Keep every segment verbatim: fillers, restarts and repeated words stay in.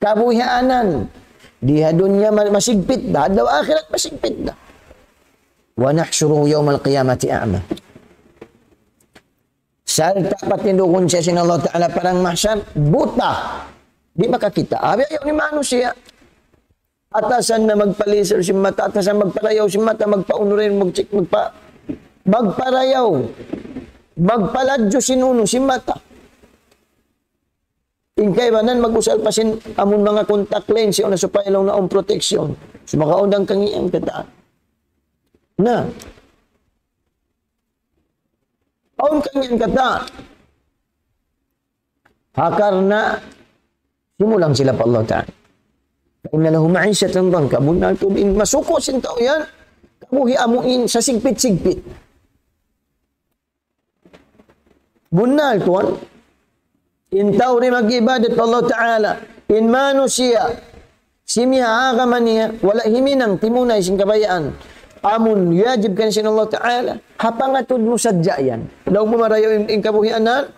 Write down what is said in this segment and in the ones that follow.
kabuhianan. Di ha dunya ma-, masigpit da, adlaw akhirat masigpit da. ونحشره يوم القيامة أعمى. Sarta' patindugun siya sin Allah Ta'ala padang mahsar, buta. Di' makakita'. Abi, ayaw ni manusiya'. Atasan na magpalisir sin mata, atasan magparayaw sin mata, magpaunu rin, magchik, magpa-, magparayaw, magpaladju sin unu, sin mata. In kaibanan mag-usal pa sin amun manga contact lens, siya na supaya laung na awn protection. Sumagawa' awn kangīan katan. Na. Awn kangīan katan. Ha karna' simulang sila pa Allah Ta'ala. فإن له معيشة ضنكا. Bunnal tuud in masuku' sin tau yan, kabuhi' amu in sasigpit-sigpit. Bunnal tuud, in tau di' mag-ibadat pa Allah Ta'ala, in manusiya', simiha agama niya, wala' himinang timunay sin kabayaan. Amun yajib kan sin Allah Ta'ala, ha pangatud mu sadja yan. Laung mu marayaw in, in kabuhianan,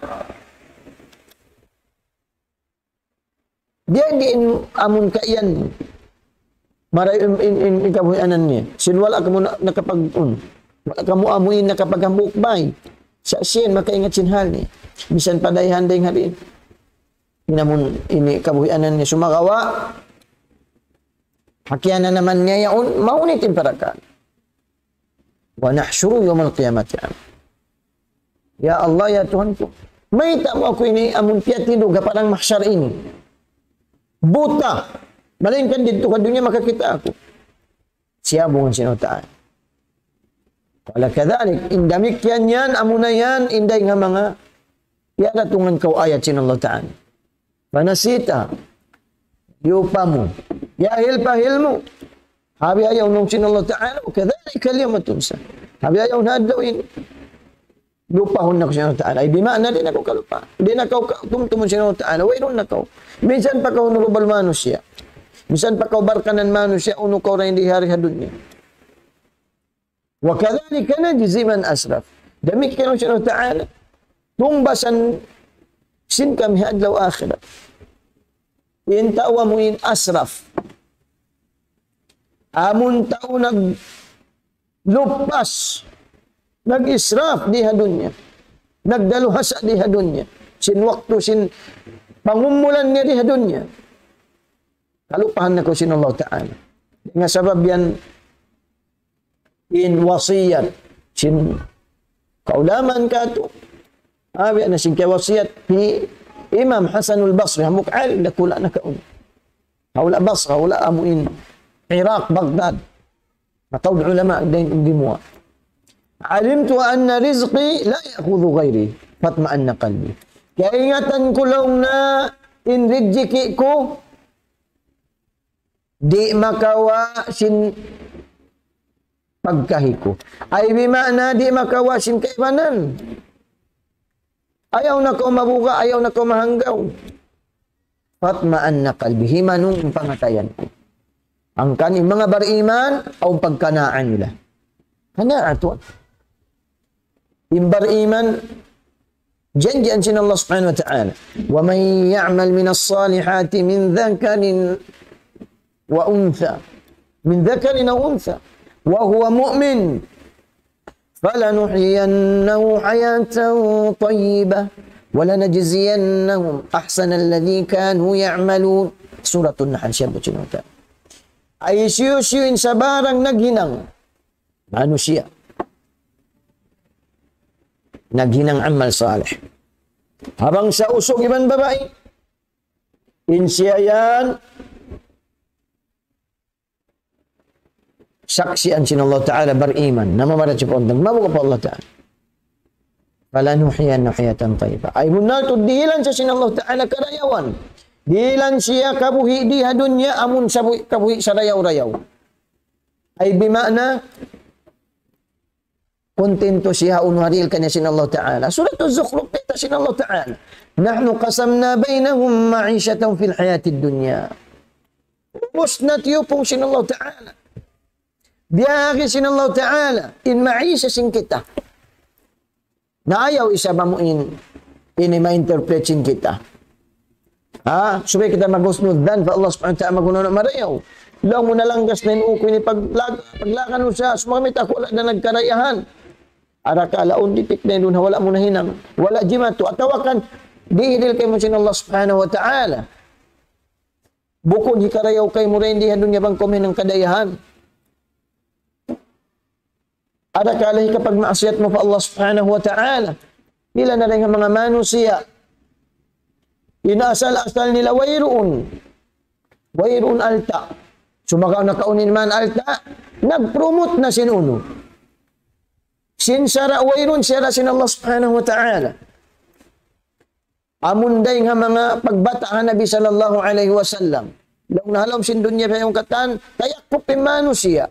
diya di' in amun kaiyan. Marayaw in, in, in, in kabuhianan niya. Sin wala' kamu na-, nakapag-, un. Wala' kamu amu in nakapaghambuuk bay. Sa' siya in makaingat sin hal niya. Misan pa dayhan-dayhan hal in. In amun ini kabuhianan niya sumagawa'. Hakiana naman niya yaun, mahunit in parakala'. ونحشره يوم القيامة أعمى. Ya Allah, ya Tuhan ku, mayta' mu aku ini amun piyatindug ha padang mahsar ini? Buta. Malaingkan didtu ha dunya makakita' aku. Siya bungan sin Allah Ta'ala. قال كذلك, in damikkiyan yan, amuna yan, in dayn ha manga, piyaratungan kaw ayat sin Allah Ta'ala. فنسيتها. Liyupa mu. Yahil pa hil mu. Abi ayaw nung sin Allah Ta'ala, وكذلك اليوم تنسى. Abi ayaw na adlaw ini. Lupahun na kaw sin Allah Ta'ala. Ay, di' maana, di' na kaw kalupa. Di' na kaw ka-, tumtumun sin Allah Ta'ala. Wayruun na kaw. Minsan pa kaw honorable manusiya'. Minsan pa kaw barkanan manusiya', unu kaw ra in di hari ha dunya. وكذلك نجزي من أسرف. Damikkiyan sin Allah Ta'ala. Tungbasan sin kami ha adlaw akhirat. In tau amu in asraf. Amun tau naglupas, nag-israf di ha dunya. Nagdaluhasa di ha dunya. Sin waktu, sin pangumulan niya di ha dunya. Kalupahan na kaw sin Allah Ta'ala. Nga sabab yan in wasiyat sin kaulamaan katu'. Abi na sin kawasiyat hi Imam Hasanul Basri, hambuuk alim dakula' nakauna. Hawla Basra, hawla amu in Iraq, Baghdad. Mataud ulama dayn gimuwa'. علمت أن رزقي لا يأخذه غيري فاطمأن قلبي. Kaingatan ku laung na in rijiki' ku di' makawa' sin pagkahi ku. Ay bi maana di' makawa' sin kaibanan. Ayaw na kaw mabuga', ayaw na kaw mahanggaw. فاطمأن قلبي, himanung in pangatayan ku. Hangkan in manga bariman, awn pagkanaan nila. Kanaan tuud. In bariman, janjian sin Allah Subhanahu wa Ta'ala. ومن يعمل من الصالحات من ذكر وأنثى. من ذكر أو أنثى. وهو مؤمن. فلنحيينه حياة طيبة. ولنجزينهم أحسن الذي كانوا يعملون. Suratun Nahl, siya bu chinota. Ay siyu-siyu in sabarang naghinang manusiya'. Naghinang amal salih. Habang sa usug iban babai, in siya yan, saksian sin Allah Ta'ala bariman. Namamarat siya pa Allah Ta'ala. Mabuga' pa Allah Ta'ala. فلنحيينه حياة طيبة. Ay bunnal tuud dihilan siya sin Allah Ta'ala karayawan. Dihilan siya kabuhi' di ha dunya amun sabu-, kabuhi' sarayaw-rayaw. Ay bi maana, kontento siya unu ha dihil kaniya sin Allah Ta'ala. Suratul Zukhruf, kita' sin Allah Ta'ala. نحن قسمنا بينهم معيشتهم في الحياة الدنيا. Ubus na tiyupung sin Allah Ta'ala. Biyahagi sin Allah Ta'ala in maisha sin kita. Na ayaw isab amu in, ini ma-interpret sin kita. Ha? Subay kita mag-husnul dhan pa Allah subhanahu wa ta'ala, magununa marayaw. Laung mu nalanggas na in ū ku ini paglag-, paglakan mu sa, sumamit aku wala' na nagkarayahan. Arakala' awn ditik na duun ha wala' mu nahinang. Wala' jimatu. Atawa kan, dihidil kaymu sin Allah subhanahu wa ta'ala. Bukun hikarayaw kaymu dayn di ha dunya bang kaw mahinang kadayahan. Arakala' hikapagmaksiyat mu pa Allah subhanahu wa ta'ala. Pila na dayn ha manga manusiya'. In asal-asal nila wayruun. Wayruun alta'. Sumagawa' nakauna in manga alta', nag-promote na sin unu. Sin sara' wayruun sara' sin Allah subhanahu wa ta'ala. Amun dayn ha manga pagbata' ha Nabi sallallahu alayhi wasallam. Laung na ha lawm sin dunya pa yung katan, tayakup in manusiya'.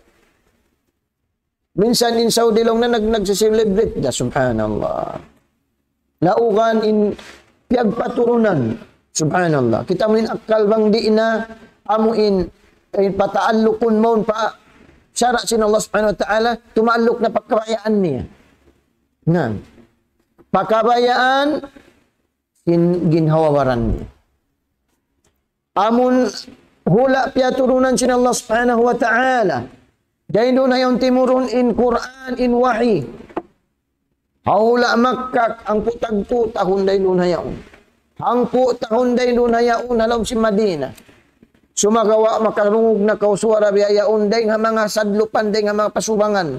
Minsan in Saudi laung na nag-, nagsi-celebrate da, subhanallah. Laugan in piyagpaturunan, subhanallah. Kita' mu in akkal bang di' na amu in, in pataallukun mawn pa sara' sin Allah subhanahu wa ta'ala, tumaalluk na pa kabayaan niya. Na, pa kabayaan, sin ginhawa-baran niya. Amun hula' piyaturunan sin Allah subhanahu wa ta'ala. Dayn duun ha yaun timurun in Qur'an, in wahi. Ha hula' Makkah, hangpu' tagpu' tahun dayn duun ha yaun. Hangpu' tahun dayn duun ha yaun, ha lawm sin Madina. Sumagawa' makarungug na kaw suwara biya' yaun, dayn ha manga sadlupan, dayn ha manga pasubangan.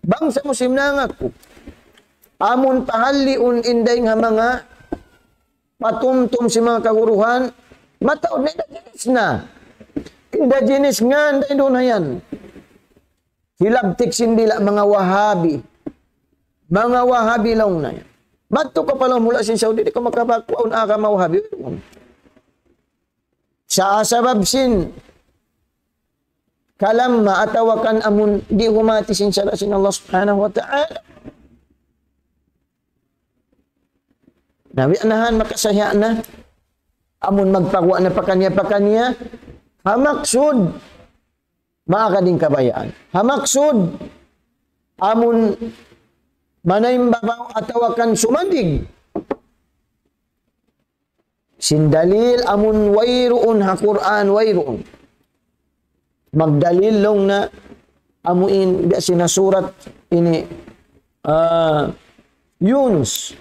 Bangsa Muslim nangaku. Amun pahalliun in dayn ha manga patumtum sin manga kaguruhan, mataud na indigenous na. Indigenous ngan dayn duun ha yan. Hilabtik sin dila' manga Wahabi. Manga Wahabi laung na yan. Madtu kaw pa lawm hula' sin Saudi, di' kaw makapakuha in agama Wahabi. Sa' sabab sin kalamma atawa kan amun di' humati sin sara' sin Allah subhanahu wa ta'ala. Na, biya' na han makasaya' na. Amun magpaguwa' na pakaniya-pakaniya, ha maksud, maagad in kabayaan. Ha maksud, amun manayimbabaw atawa kan sumandig. Sin dalil amun wayruun ha Qur'an, wayruun. Magdalil laung na amu in biya' sin ha surat ini, ah, Yunus.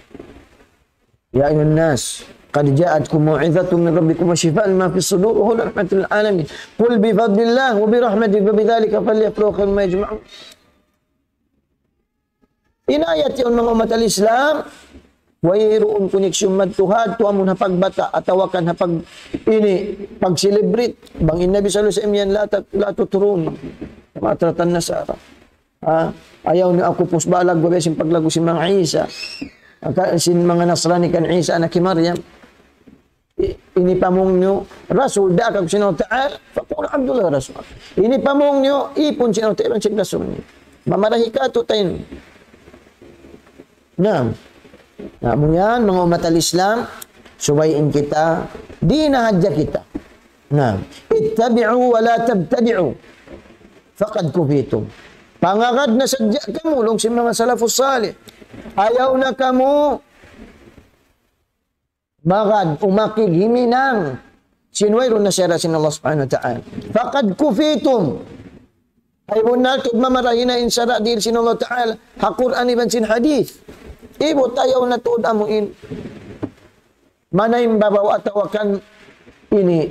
يا أيها الناس قد جاءتكم موعظة من ربكم وشفاء لما في الصدور وهدى ورحمة للعالمين. قل بفضل الله وبرحمته فبذلك فليفرحوا خير مما يجمعون. In ayat yaun manga ummat al-Islam, wayruun koneksyon madtu ha tuud amun ha pagbata', atawa kan ha pag-, ini, pag-celebrate. Bang in Nabi sallallahu alayhi wasallam yan, لا تت-، لا تطروني كما أطرت النصارى. Ha? Ayaw niyu aku pusbalag, biya' sin paglagu sin manga Isa. Aka-, sin manga Nasrani kan Isa anak hi Maryam. I-, ini pamung niyu, Rasul, daak aku sin Allah Ta'ala, فقولوا عبد الله ورسوله. Ini pamung niyu, ipun sin Allah Ta'ala, sin Rasul niya. Mamarahi katu'taniyu. Naam. Na, amu yan, manga ummat al-Islam, subay in kita, di' na hadja kita. Naam. اتبعوا ولا تبتدعوا فقد كفيتم. Pangagad na sadja kamu, laung sin manga salafus salih. Ayaw na kamu magad, umakig, himinang sin wayruun na sara' sin Allah Subhanahu wa Ta'ala. فقد كفيتم. Ay bunnal tuud mamarahi na in sara' dihil sin Allah Ta'ala ha Qur'an iban sin hadith. Ibu tayaw na tuud amu in manayimbabaw atawa kan ini,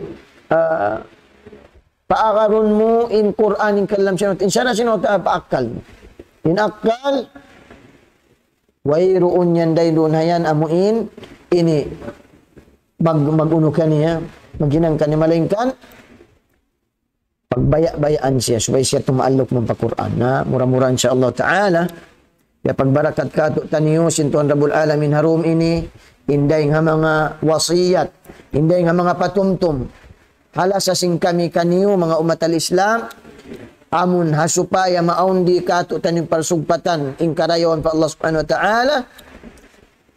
ah, paagarun mu in Qur'an, in kalam sin Allah, in sara' sin Allah Ta'ala pa akkal mu. In akkal, wayruun yan dayn duun ha yan amu in ini mag-, mag-unu kaniya, maghinang kaniya, malaingkan pagbaya'-bayaan siya, subay siya tumaalluk mawn pa Qur'an. Na, mura-mura, insya Allah Ta'ala, ya pagbarakat katu'taniyu sin Tuhan Rabbul Alamin ha dum ini, in dayng ha manga wasiyat, in dayng ha manga patumtum, ha lasa sin kami kaniyu, manga ummat al-Islam, amun ha supaya maawn di katu'taniyu parsugpatan, in karayawan pa Allah Subhanahu wa Ta'ala,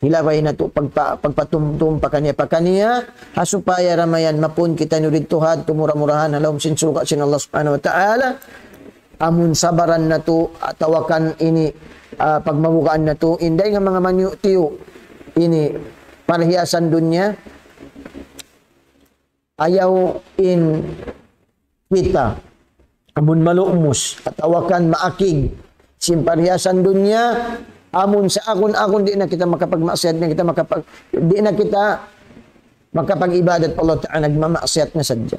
hilabay natu' pagpa-, pagpatumtum pakaniya-pakaniya, ha supaya da mayan mapun kitaniyu didtu ha adlaw mura-murahan ha lawm sin surga' sin Allah Subhanahu wa Ta'ala. Amun sabaran natu', atawa kan ini, ah, pagmabugaan natu', in dayng ha manga maniyu'-tiyu', ini parhiyasan dunya. ayaw in kita amun malumus, atawa kan maakig, sin parhiyasan dunya, amun sa akun-akun di' na kita makapagmaksiyat, di' na kita makapag-, di' na kita makapag-ibadat pa Allah Ta'ala, nagmamaksiyat na sadja.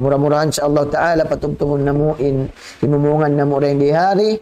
Mura-murahan sa Allah Ta'ala, patubtubun namu' in, himumungan namu' dayn di ha di,